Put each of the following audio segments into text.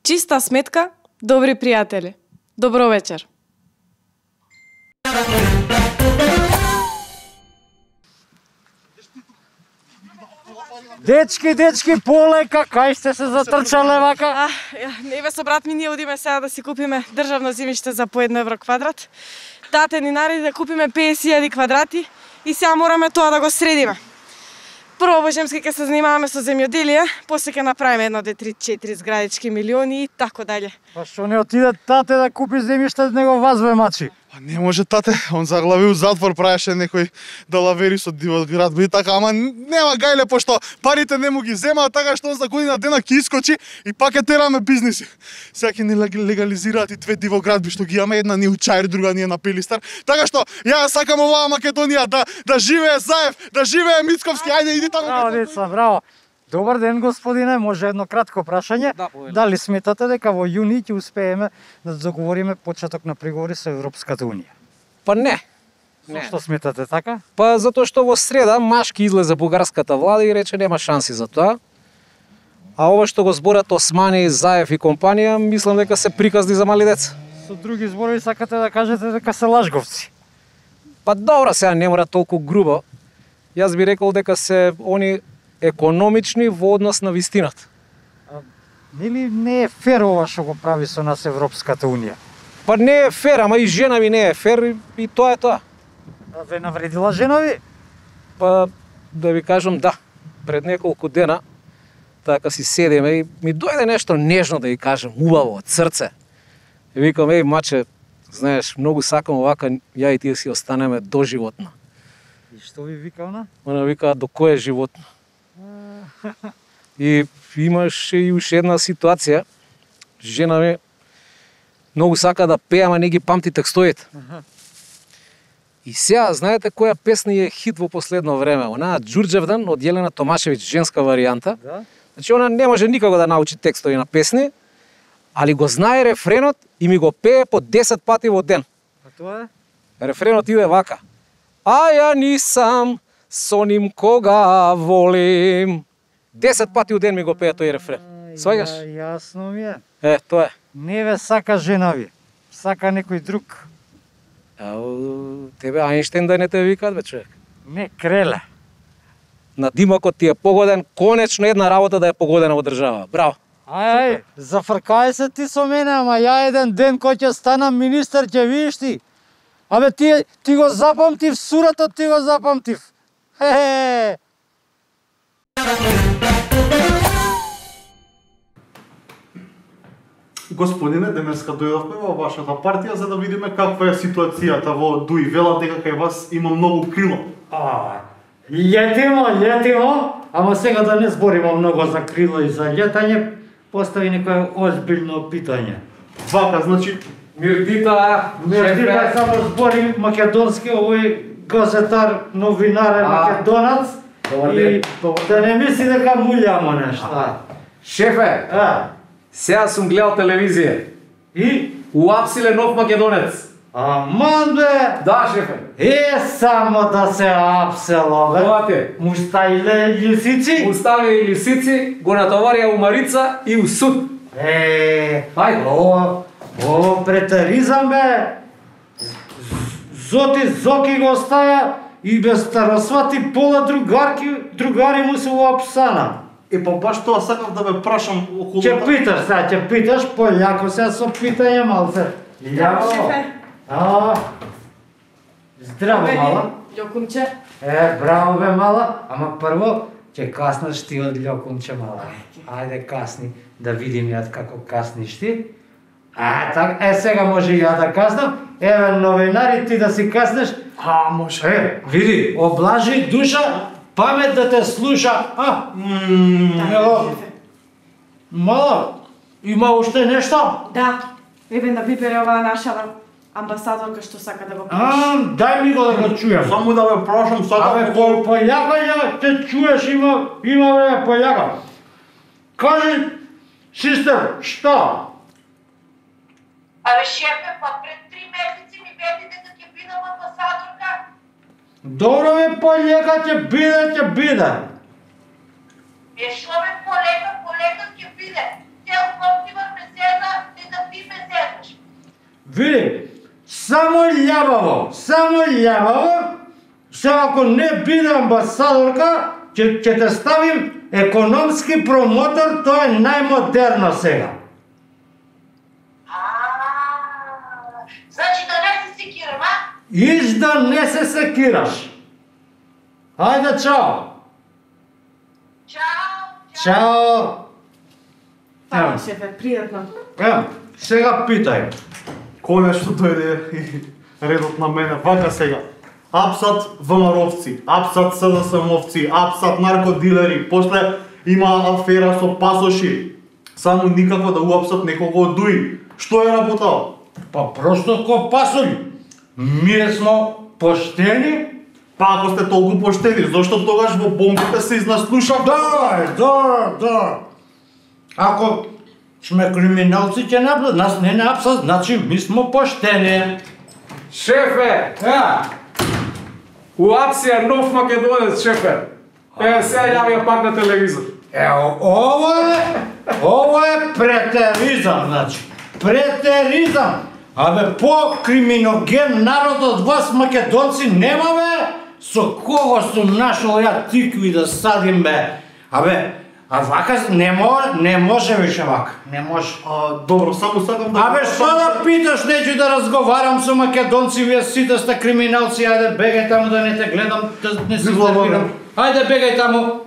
Чиста сметка, добри пријатели. Добро вечер. Дечки, полека, кај сте се затрчале вака? Еве со брат ми ние одиме сега да си купиме државно земјиште за по 1 евро квадрат. Тате ни нареди да купиме 50.000 квадрати и сега мораме тоа да го средиме. Прво во Земски ќе се занимаваме со земјоделие, после ќе направиме 1, 2, 3, 4 зградички милиони и тако дале. Па што не отиде тате да купи земјиште, него вас ве мачи? Не може тате, он заглави у затвор, правеше некој далавери со дивот град, и така, ама нема гајле, пошто парите не му ги земаат, така што он за година дена ќе искочи и пак ќе тераме бизниси. Сега ќе ни легализираат и 2 дивоградби што ги имаме, една ни у Чаир, друга ни е на Пилистар. Така што ја сакам оваа Македонија да живее Заев, да живее Мицковски, ајде иди таму. Браво, деца, браво. Добар ден, господине, може едно кратко прашање? Дали сметате дека во јуни ќе успееме да договориме почеток на преговори со Европската унија? Па не. Што сметате така? Па затоа што во среда Машки излезе бугарската влада и рече нема шанси за тоа. А ова што го зборат Османи, Заев и компанија, мислам дека се приказни за мали деца. Со други зборови сакате да кажете дека се лажговци? Па добро, сега не мора толку грубо. Јас би рекол дека се они економични во однос на вистината. Нели не е фер ова што го прави со нас Европската унија? Па не е фер, ама и жена ми не е фер и тоа е тоа. А ве навредила жена ви? Па да ви кажам да, пред неколку дена така си седиме и ми дојде нешто нежно да ја кажам, убаво, од срце. И викам, еј маче, знаеш, многу сакам овака, ја и ти си останеме доживотно. И што ви вика она? Она вика, до кој е животно? И имаше и уште една ситуација. Жена ми многу сака да пее, ама не ги памти текстовите. И сега, знаете која песна е хит во последно време? Она Ѓурџевдан од Јелена Томашевиќ, женска варијанта. Да? Значи, она не може никако да научи текстови на песни, али го знае рефренот и ми го пее по 10 пати во ден. А тоа е? Рефренот иде вака. А ја нисам со ним кога волим. 10 пати у ден ми го пее тој рефрен. Сваѓаш? Јасно ми е. Тоа е. Не ве сака жена ви. Сака некој друг. Тебе Ајнштейн да не те викаат, бе, човек. Не креле. На димокот ти е погоден, конечно една работа да е погодена во држава. Браво. Ај, зафркај се ти со мене, ама ја еден ден кој ќе станам министер ќе видиш ти. Абе ти го запамтив, суратот ти го запамтив. Хе-хе. Господине, денеска дојдовме во вашата партија за да видиме каква е ситуацијата во Дуи. Велат дека кај вас има многу крило. Летимо, ама сега да не збориме многу за крило и за летање, постави некој озбилно питање. Вака, значи, Мирдита, Мирдита само збори македонски, овој газетар, новинар е македонац. И да не мисли дека мулјамо нешто. Шефе, сега сум гледал телевизија. И? Уапсиле нов македонец. Аман бе! Да, шефе. Само да се апсело бе. Тоа те. Муставиле лисици? Устави и лисици, го натоварија у Марица и у суд. Ајде. О, претаризам бе. Зоки го оставя и без старосвати пола другари му се уапсана. па баш тоа сакав да ме прашам околу... Ќе питаш, пољако сега со питање малце. Шефе. Здраво, мала. Љокумче. Браво бе, мала. Ама прво, ќе каснеш ти од љокумче, мала. Ајде касни, да видим ја како касниш ти. Сега може и ја да каснам. Еве новинари, ти да си каснеш. Може. Види, облажи душа, памет да те слуша. Мала, има уште нешто? Да. Еве на Пипер оваа наша амбасадорка што сака да го кажеш. Дај ми го да го чујам. Само да ме прашам, сакам... Пољака ја те чуеш, има време пољака. Кажи, сестер, што? Абе, шефе, па пред 3 месеци ми вети дека ќе бидам амбасадорка. Добро ме пољака, ќе биде. Шо ме полека ќе биде. Цел Коптивар ме Види, само љабаво, сега ако не биде амбасадорка, ќе те ставим економски промотор, тоа е најмодерно сега. Значи да не се секирам, а? Иш да не се секираш. Ајде, чао. Чао. Фала, шефе, пријатно. Сега питај. Конечно дојде и редот на мене. Вака сега. Апсат ВМРО-вци, апсат СДСМ-овци, апсат наркодилери, после има афера со пасоши. Само никако да уапсат некого од ДУИ. Што е работа? Па просто ко пасоли. Ние смо поштени. Па ако сте толку поштени, зошто тогаш во бомбите се изнаслушав? Да. Ако сме криминалци ќе нападат, нас не апсат, значи ми смо поштени. Шефе! УАПС е нов македонец, шефе. Сега јавија пак на телевизор. Ово е претеризам, значи. Претеризам. Абе, по-криминоген народ од вас, македонци, немаме. Со кого сум нашол ја тикви да садим, бе? Абе, а вака не може више вака. Не може. Добро, само сакам да... Абе, што да питаш, неќу да разговарам со македонци, вие сите сте криминалци, ајде бегај таму да не те гледам, да не се нервирам. Ајде бегај таму.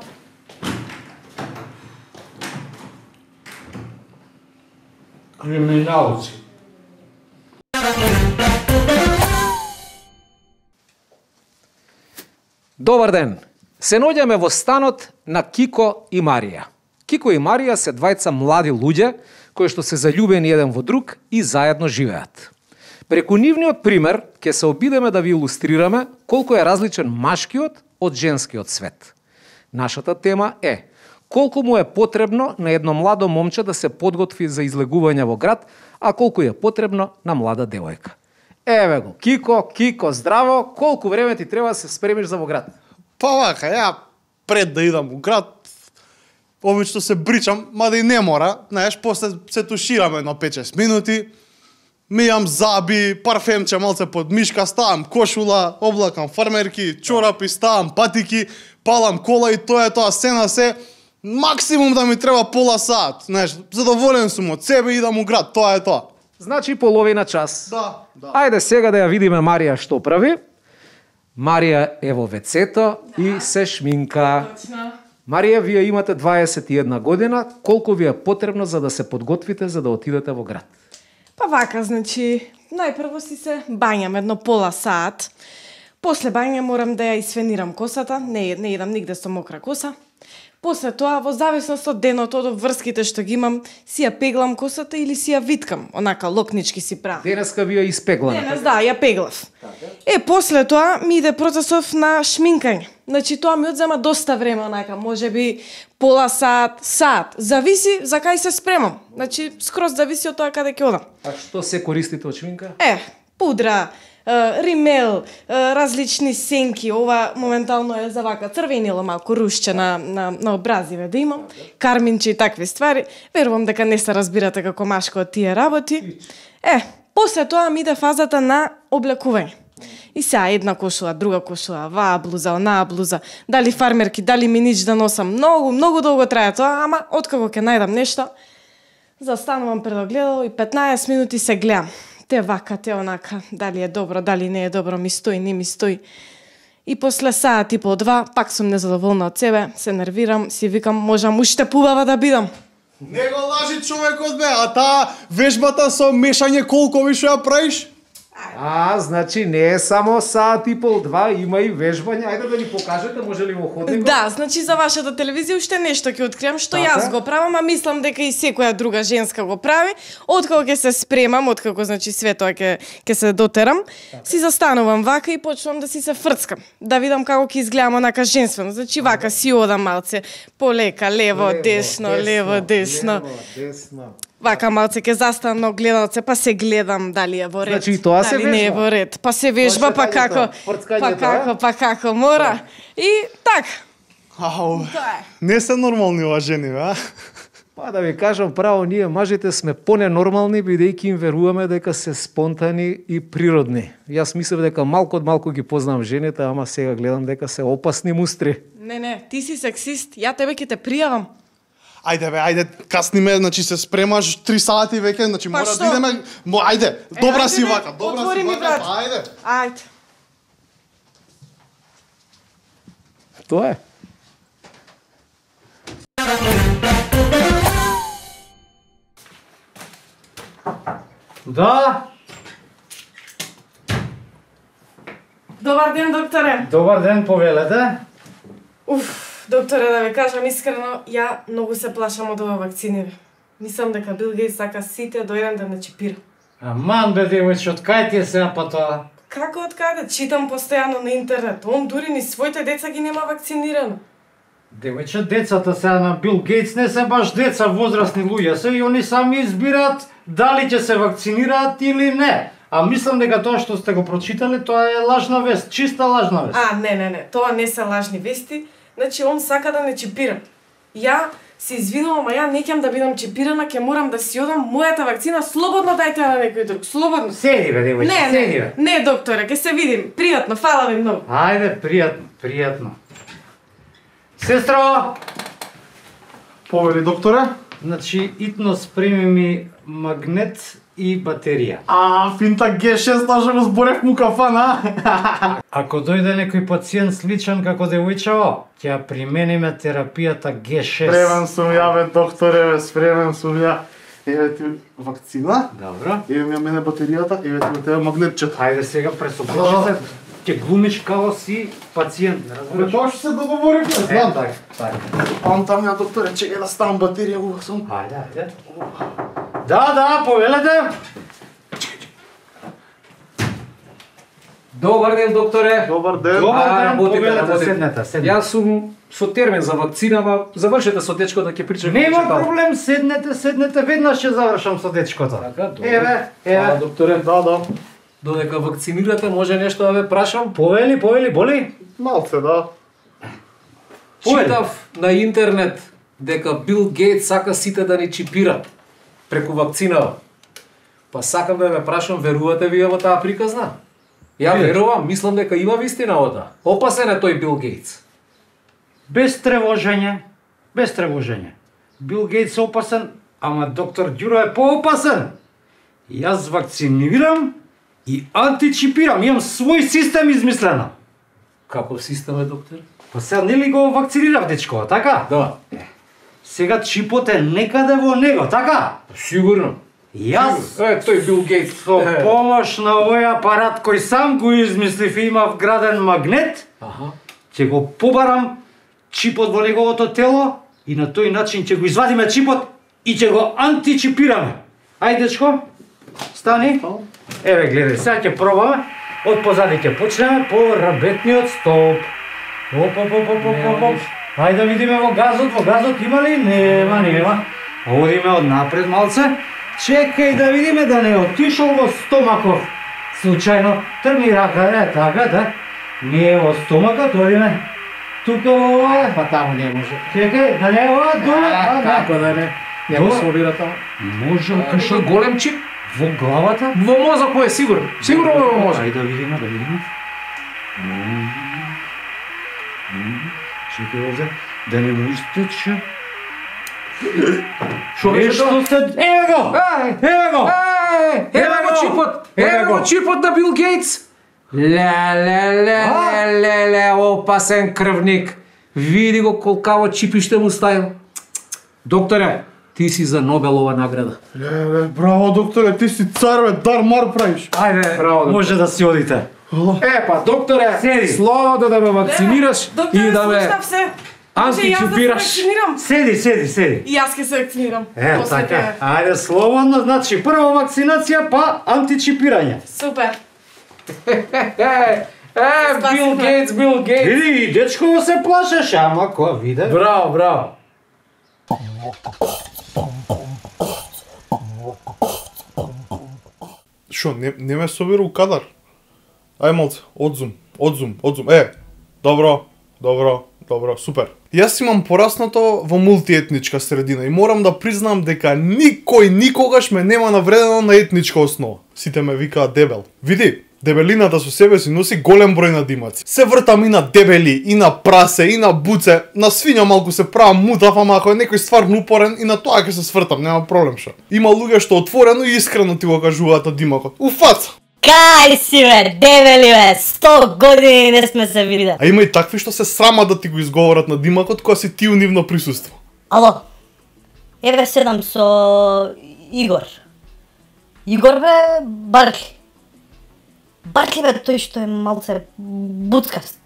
Криминалци. Добар ден! Се наоѓаме во станот на Кико и Марија. Кико и Марија се двајца млади луѓе кои што се заљубени еден во друг и заедно живеат. Преку нивниот пример ќе се обидеме да ви илустрираме колку е различен машкиот од женскиот свет. Нашата тема е колку му е потребно на едно младо момче да се подготви за излегување во град, а колку е потребно на млада девојка. Еве го, Кико, здраво, колку време ти треба да се спремиш за во град? Па вака, ја пред да идам во град, обично се бричам, мада и не мора, знаеш, после се туширам едно 5-6 минути, мијам заби, парфемче малце под мишка, ставам кошула, облакам фармерки, чорапи, ставам патики, палам кола и тоа е тоа, се на се, максимум да ми треба пола сат, знаеш, задоволен сум од себе и идам у град, тоа е тоа. Значи половина час. Да. Ајде сега да ја видиме Марија што прави. Марија е во вецето и се шминка. Точно. Марија, вие имате 21 година, колку ви е потребно за да се подготвите за да отидете во град? Па вака, значи, најпрво си се бањам едно пола сат. После бања морам да ја исфенирам косата, не идам нигде со мокра коса. После тоа, во зависност од денот, од врските што ги имам, си ја пеглам косата или си ја виткам, онака локнички си правам. Денеска ви ја испегламе. Денес, да, ја пеглав. После тоа ми иде процесов на шминкање. Значи, тоа ми одзема доста време, онака, можеби пола сат, зависи за кај се спремам. Значи, скроз зависи од тоа каде ќе одам. А што се користите од шминка? Пудра, римел, различни сенки, ова моментално е за вака црвенило малку рушче на образиве да имам, карминче и такви ствари. Верувам дека не се разбирате како машко од тие работи. После тоа ми иде фазата на облекување. И сега една кошула, друга кошула, ваа блуза, онаа блуза, дали фармерки, дали минич да носам, многу долго трае тоа, ама откако ќе најдам нешто, застанувам пред огледало и 15 минути се гледам. Те вака, те онака, дали е добро, дали не е добро, ми стои, не ми стои. И после саат и по 2, пак сум незадоволна од себе, се нервирам, си викам, можам уште побава да бидам. Не го лажи човекот, бе, а таа вежбата со мешање колкови што ја правиш? Значи не е само саат и пол, 2, има и вежбање. Ајде да ни покажете, може ли во ходникот? Да, значи за вашата телевизија уште нешто ќе откриам што јас го правам, а мислам дека и секоја друга женска го прави. Откако ќе се спремам, откако значи све тоа ќе се дотерам, си застанувам вака и почнувам да си се фрцкам, да видам како ќе изгледам онака женствено. Значи вака си одам малце полека, лево, десно. Вака малце ќе застанам на огледалце, па се гледам дали е во ред, значи, тоа се дали не е во ред, па се вежба, па како мора. И така. Ау, не се нормални ова жени, бе, а? Па да ви кажам право, ние мажите сме поненормални, бидејќи им веруваме дека се спонтани и природни. Јас мислев дека малку од малку ги познавам жените, ама сега гледам дека се опасни мустри. Не, ти си сексист. Ја тебе ќе те пријавам. Ајде бе, ајде, касниме, значи се спремаш 3 сати веќе, значи Па мора што? да идеме. Ајде, добра ајде си бе, вака, добра отвори си ми вака, врат. па ајде. Ајде. Тоа е. Да, Добар ден, докторе. добар ден, повелете. Докторе, да ви кажам искрено, ја многу се плашам од ова вакцини. Мислам дека Бил Гейтс сака сите до еден да не чипира. Аман бе, девојче, од кај ти е сега па тоа? Како од каде? Читам постојано на интернет. Он дури ни своите деца ги нема вакцинирано. Девојче, децата сега на Бил Гейтс не се баш деца, возрастни луѓе се и они сами избираат дали ќе се вакцинираат или не. А мислам дека тоа што сте го прочитале, тоа е лажна вест, чиста лажна вест. Не, тоа не се лажни вести. Значи, он сака да не чипира. Ја се извинувам, а ја не ќам да бидам чипирана, ќе морам да си одам мојата вакцина, слободно дајте на некој друг, слободно. Седи бе, девојче, седи бе. Не, докторе, ќе се видим. Пријатно, фала ви многу. Ајде, пријатно. Сестро, Повели докторе. значи итно спреми ми магнет и батерија. Финта G6 даже го зборев му кафан, а? Ако дојде некој пациент сличен како девојчево, ќе ја примениме терапијата G6. Спремен сум ја, бе, докторе, бе, спремен сум ја. Еве ти вакцина, Добро. еве ми ја мене батеријата, еве ти тебе магнетчето. Ајде сега пресопречи се, ќе глумиш како си пациент, Бе, разбираш? тоа што се договоривме, знам. така. Там ја, докторе, чекај да ставам батерија, ува сум. Ајде. Да, повелете. Добар ден, докторе. Добар ден. Добар ден, работите, повелете, работите. седнете. Јас сум со термин за вакцина, ма завршете со дечко да ќе причаме. Нема проблем, седнете, веднаш ќе завршам со дечкото. Така, добро. Еве. Фала, докторе. Да. Додека вакцинирате, може нешто да ве прашам? Повели, боли? Малце, да. Читав на интернет дека Бил Гейтс сака сите да ни чипира преку вакцинава. Па сакам да ве прашам, верувате вие во таа приказна? Ја верувам, мислам дека има вистина во таа. Опасен е тој Бил Гейтс. Без тревожење. Бил Гейтс е опасен, ама доктор Ѓуро е поопасен. Јас вакцинирам и античипирам, имам свој систем измислено. Каков систем е, доктор? Па сега нели го вакцинирав дечко, така? Да. Сега чипот е некаде во него, така? Сигурно. Јас Тој Бил Гейтс. со помош на овој апарат кој сам го измислив и има вграден магнет, Аха. ќе го побарам чипот во неговото тело и на тој начин ќе го извадиме чипот и ќе го античипираме. Ајде, дечко, стани. Еве, гледај, сега ќе пробаме. Од позади ќе почнеме по рабетниот столб. Оп. Ајде да видиме во газот има ли? Нема. Одиме од напред малце. Чекај да видиме да не отишол во стомаков. Случајно, тргни рака, така, да. Ние во стомакот одиме. Тука ова, па таму не може. Чекај, да не е ова, доле. Како да не? Не го собира таму. Може, Кашо голем чип? во главата? Во мозок е сигурно. Сигурно во мозок. Ајде да видиме. Чекај овде, да не му истече. Шо беше тоа? Нешто се... Еве го! Еве го чипот! Еве го чипот на Бил Гейтс! Ле, опасен крвник. Види го колкаво чипиште му ставил. Докторе, ти си за Нобелова награда. Браво, докторе, ти си цар, бе, дар мар правиш. Ајде, Браво, може да си одите. Па, докторе, Седи. слободно да ме вакцинираш Докторе, и да ме слушнав се. античипираш. Седи. Седи. И јас ќе се вакцинирам. После Така. тебе. Ајде, слободно, значи прво вакцинација, па античипирање. Супер. Бил Гейтс. Види, дечко се плашеше, ама која виде. Браво. Шо, не ме собира у кадар? Ај малце, одзум. Добро, супер. Јас имам пораснато во мултиетничка средина и морам да признам дека никој никогаш ме нема навредено на етничка основа. Сите ме викаат дебел. Види, дебелината со себе си носи голем број надимаци. Се вртам и на дебели, и на прасе, и на буце, на свиња малку се правам мутав, ама ако е некој стварно упорен и на тоа ќе се свртам, нема проблем шо. Има луѓе што отворено и искрено ти го кажуваат надимакот. Уфац! Кај си бе, дебели бе, 100 години не сме се видели. А има и такви што се срамат да ти го изговорат надимакот кога си ти у нивно присуство. Ало, еве седам со Игор. Игор бе, Баркли. Баркли бе тој што е малце буткаст.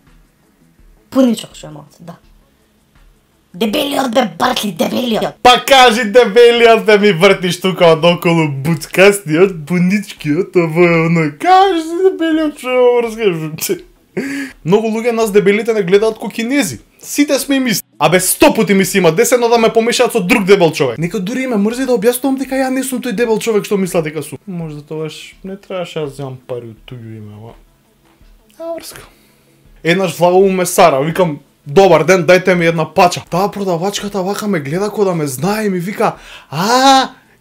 Пуничок што е малце, да. Дебелиот бе, Баркли, дебелиот. Па кажи дебелиот да ми вртиш тука одоколу буткастиот, пуничкиот, ова е оној. Кажи дебелиот што разкажу. Многу луѓе нас дебелите не гледаат ко кинези. Сите сме им исти. Абе 100 пати ми се има десено да ме помешаат со друг дебел човек. Некој дури ме мрзи да објаснувам дека ја не сум тој дебел човек што мисла дека сум. Може да тогаш не требаше да земам пари од туѓо име, ама. Врска. Еднаш влагам у месара, викам добар ден, дајте ми една пача. Таа продавачката вака ме гледа ко да ме знае и ми вика: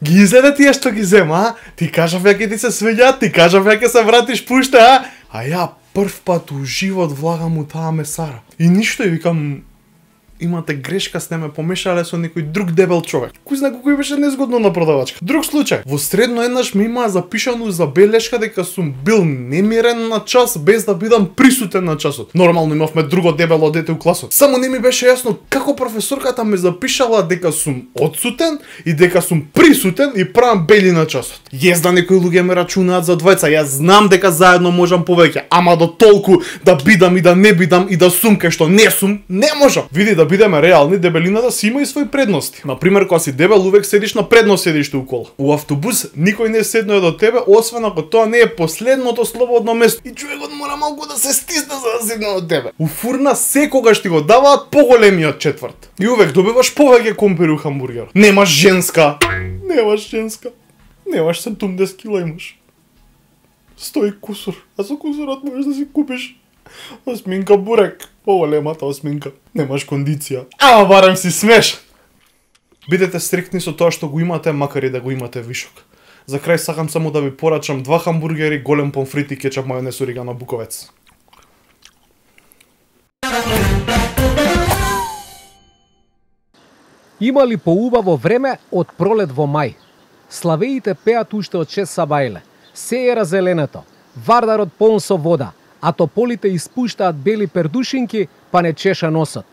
ги изеде тие што ги зема, Ти кажав ја ќе ти се свеѓа, ти кажав ја ќе се вратиш пуште, А ја прв пат у живот влагам у таа месара. И ништо, и викам, имате грешка, сте ме помешале со некој друг дебел човек. Кој знае кој беше незгодно на продавачка. Друг случај. Во средно еднаш ми имаа запишано забелешка дека сум бил немирен на час без да бидам присутен на часот. Нормално имавме друго дебело дете у класот. Само не ми беше јасно како професорката ме запишала дека сум одсутен и дека сум присутен и правам бели на часот. Језда некои луѓе ме рачунаат за двајца. Јас знам дека заедно можам повеќе, ама до толку да бидам и да не бидам и да сум кај што не сум, не можам. Види, да бидеме реални, дебелината си има и свои предности. Например, кога си дебел, увек седиш на предно седиште у кола. У автобус никој не седнува до тебе, освен ако тоа не е последното слободно место. И човекот мора малку да се стисне за да седне до тебе. У фурна секогаш ти го даваат поголемиот четврт. И увек добиваш повеќе компири у хамбургер. Немаш женска. Немаш 70 кила имаш. 100 кусур. А со кусурот можеш да си купиш осминка бурек, поголемата осминка. Немаш кондиција. Ама барем си смеш. Бидете стриктни со тоа што го имате, макар и да го имате вишок. За крај сакам само да ви порачам 2 хамбургери, голем помфрит и кетчап, мајонез, орегано, буковец. Има ли поубаво време од пролет во мај? Славеите пеат уште од 6 сабајле. Се е разеленето. Вардарот полн со вода, а тополите испуштаат бели пердушинки, па не чеша носот.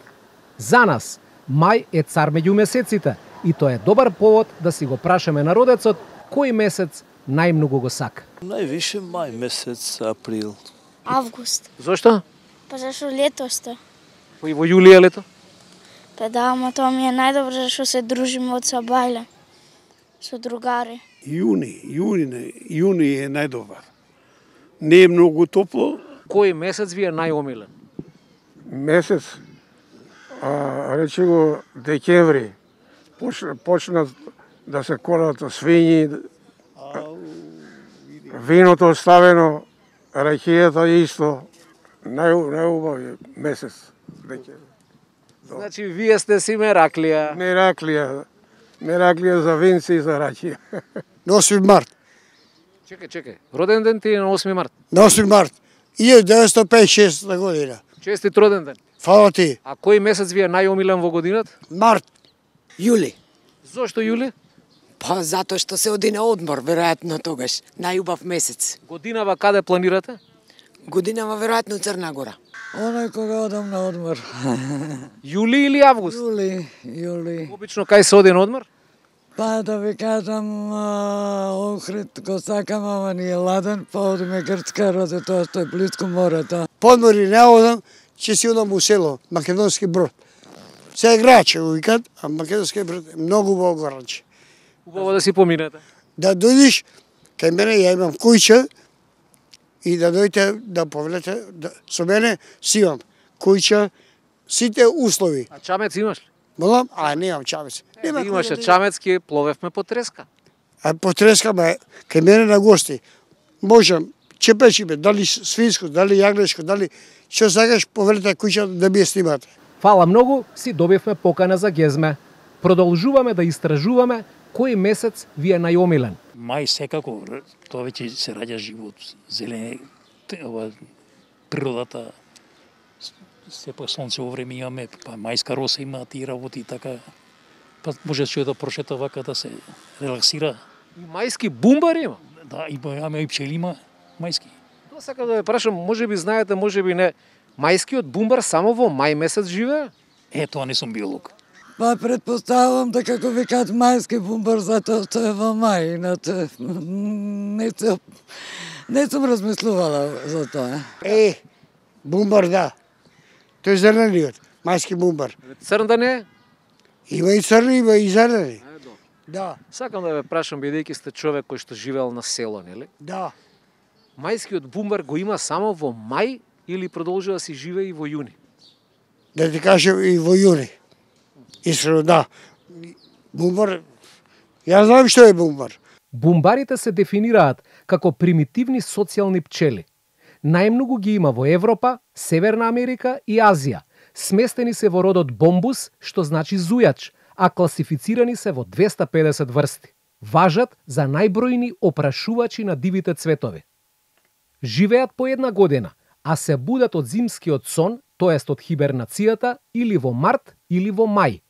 За нас, мај е цар меѓу месеците и тоа е добар повод да си го прашаме народецот кој месец најмногу го сака. Највише мај месец, април. Август. Зошто? Па зашо летосте? И во јулија е лето? Па да, ама тоа ми е најдобро зашо се дружиме од сабајле со другари. Јуни е најдобар. Не е многу топло. Кој месец ви е најомилен? Месец, речи го декември, почнат да се колат свињи, виното ставено, ракијата исто, најубави месец декември. Значи, вие сте си Мераклија. Мераклија за винци и за ракија. На 8 март. Чекај. Роден ден ти е на 8 март. На 8 март. 1956 година. Честит роден ден. Фала ти. А кој месец ви е најомилен во годината? Март. Јули. Зошто јули? Па затоа што се оди на одмор, веројатно тогаш. Најубав месец. Годинава каде планирате? Годинава веројатно Црна Гора. Оној кога одам на одмор. Јули или август? Јули. Обично кај се оди на одмор? Па да ви кажам, Охрид го сакам, ама ни е ладен, па одиме Грцка, роде тоа што е близко морето. Подмори не одам, ќе си одам у село, Македонски Брод. Се е граче, викат, а Македонски Брод е многу убаво граче. Убаво да си поминете. Да дојдеш, кај мене ја имам куќа, и да дојдете да повелете, со мене си имам куќа, сите услови. А чамец имаш ли? Молам? Немам чамец. Имаше чамец, ке пловевме по треска. А по треска, кај мене на гости, можам, чепечиме, дали свинско, дали јаглешко, дали што сакаш, повелете куќа да ми ја снимате. Фала многу, си добивме покана за гезме. Продолжуваме да истражуваме кој месец ви е најомилен. Мај секако, тоа веќе се раѓа живот, зелени, природата, сепак сонцево време имаме, па мајска роса има, тие работи, така, па може човек да прошета вака да се релаксира. И мајски бумбар има? Да, имаме и пчели има, мајски. Тоа сакам да ве прашам, може би знаете, може би не, мајскиот бумбар само во мај месец живее? Тоа не сум биолог. Па предпоставам дека како викаат мајски бумбар затоа што е во мај, иначе не сум размислувала за тоа. Бумбар да. Тој е зелениот, мајски бумбар. Црн да не? Има и црни, има и зелени. Да. Сакам да ве прашам, бидејќи сте човек кој што живеел на село, нели? Да. Мајскиот бумбар го има само во мај или продолжува да си живее и во јуни? Да ти кажем и во јуни. Искрено да. Бумбар, ја знам што е бумбар. Бумбарите се дефинираат како примитивни социјални пчели. Најмногу ги има во Европа, Северна Америка и Азија. Сместени се во родот Бомбус, што значи зујач, а класифицирани се во 250 врсти. Важат за најбројни опрашувачи на дивите цветови. Живеат по една година, а се будат од зимскиот сон, тоест од хибернацијата, или во март, или во мај.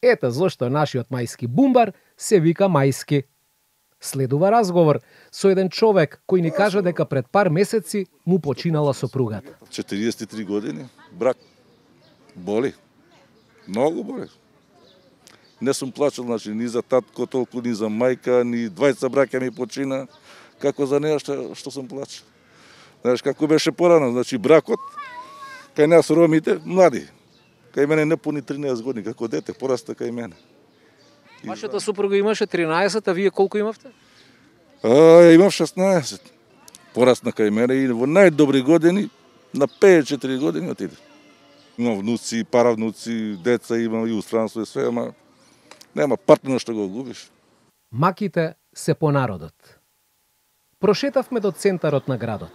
Ете зошто нашиот мајски бумбар се вика мајски. Следува разговор со еден човек кој ни кажа дека пред пар месеци му починала сопругата. 43 години, брак. Боли. Многу боли. Не сум плачал, значи, ни за татко толку, ни за мајка, ни двајца браќа ми почина. Како за неа што сум плачал. Знаеш, како беше порано, значи, бракот, кај нас ромите, млади. Кај мене не пуни 13 години, како дете, пораста кај мене. Вашата супруга имаше 13, а вие колку имавте? Имав 16. Порасна кај мене и во најдобри години, на 54 години отиде. Имам внуци, паравнуци, деца имам и устранство и све, ама нема партнер што го губиш. Маките се по народот. Прошетавме до центарот на градот.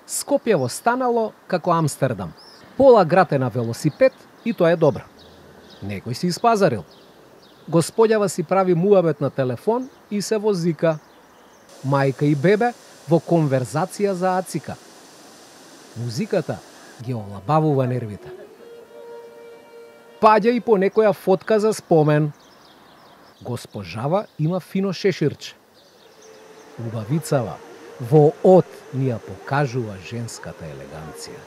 Скопјево станало како Амстердам. Пола град е на велосипед и тоа е добро. Некој си испазарил. Господјава си прави муабет на телефон и се возика. Мајка и бебе во конверзација за ацика. Музиката ги олабавува нервите. Паѓа и по некоја фотка за спомен. Госпожава има фино шеширче. Убавицава во од ни ја покажува женската елеганција.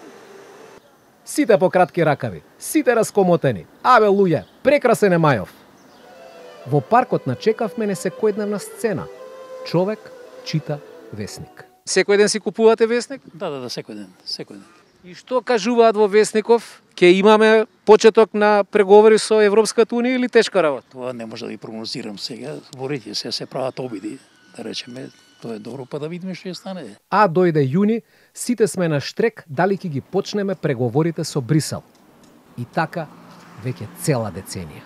Сите по кратки ракави, сите раскомотени. Абе луѓе, прекрасен е Мајов. Во паркот начекавме несекојдневна сцена. Човек чита весник. Секој ден си купувате весник? Да, секој ден, секој ден. И што кажуваат во весников? Ке имаме почеток на преговори со Европската унија или тешка работа? Тоа не може да ви прогнозирам сега. Зборите се прават обиди, да речеме, тоа е добро, па да видиме што ќе стане. А дојде јуни, сите сме на штрек дали ќе ги почнеме преговорите со Брисел. И така веќе цела деценија.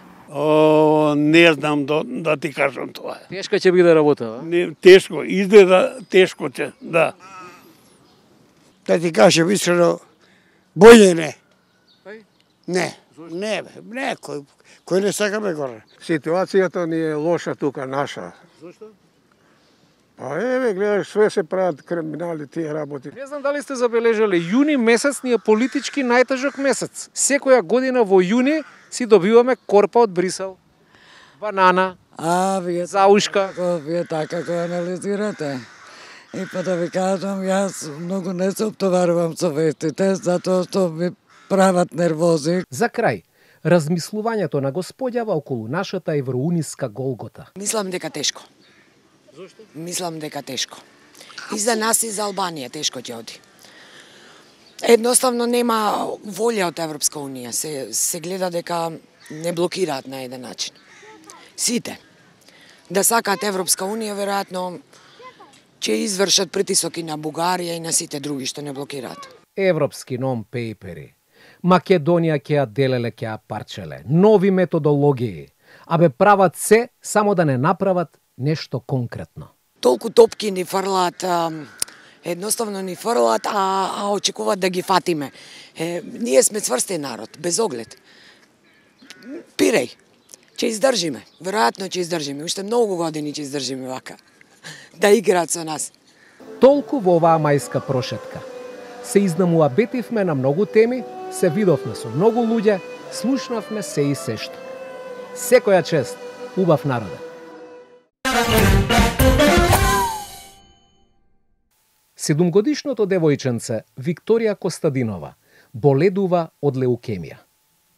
Не знам да ти кажам тоа. Тешка ќе биде работа, Не, тешко, изгледа тешко ќе, да. Да ти кажем искрено, боље не. Не, кој не сакаме горе. Ситуацијата ни е лоша тука, наша. Зошто? Па гледаш, све се прават криминали тие работи. Не знам дали сте забележале, јуни месец ни е политички најтежок месец. Секоја година во јуни си добиваме корпа од Брисел. Банана, вие заушка. Вие така го анализирате. И па да ви кажам, јас многу не се оптоварувам со вестите, затоа што ми прават нервози. За крај, размислувањето на господјава околу нашата евроуниска голгота. Мислам дека тешко. Зошто? Мислам дека тешко. И за нас и за Албанија тешко ќе оди. Едноставно нема волја од Европска унија. Се гледа дека не блокираат на еден начин. Сите. Да сакаат Европска унија, веројатно ќе извршат притисок и на Бугарија и на сите други што не блокираат. Европски нон-пейпери. Македонија ќе ја делеле, ќе ја парчеле. Нови методологии. Абе прават се само да не направат нешто конкретно. Толку топки ни фрлаат Едноставно ни фрлат, а очекуваат да ги фатиме. Ние сме цврстен народ, без оглед. Пиреј, ќе издржиме, веројатно ќе издржиме, уште многу години ќе издржиме вака, да играат со нас. Толку во оваа мајска прошетка. Се изнамуабетивме на многу теми, се видовме со многу луѓе, слушнавме се и сешто. Секоја чест, убав народе. Седумгодишното девојченце Викторија Костадинова боледува од леукемија.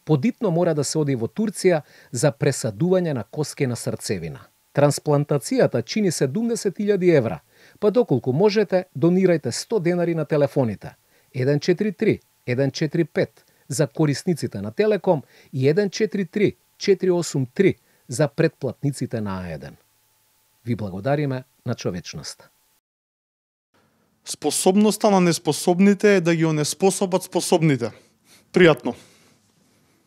Подитно мора да се оди во Турција за пресадување на коскена срцевина. Трансплантацијата чини 70.000 евра, па доколку можете, донирајте 100 денари на телефоните 143 145 за корисниците на Телеком и 143 483 за претплатниците на А1. Ви благодариме на човечноста. Способноста на неспособните е да ги онеспособат способните. Пријатно.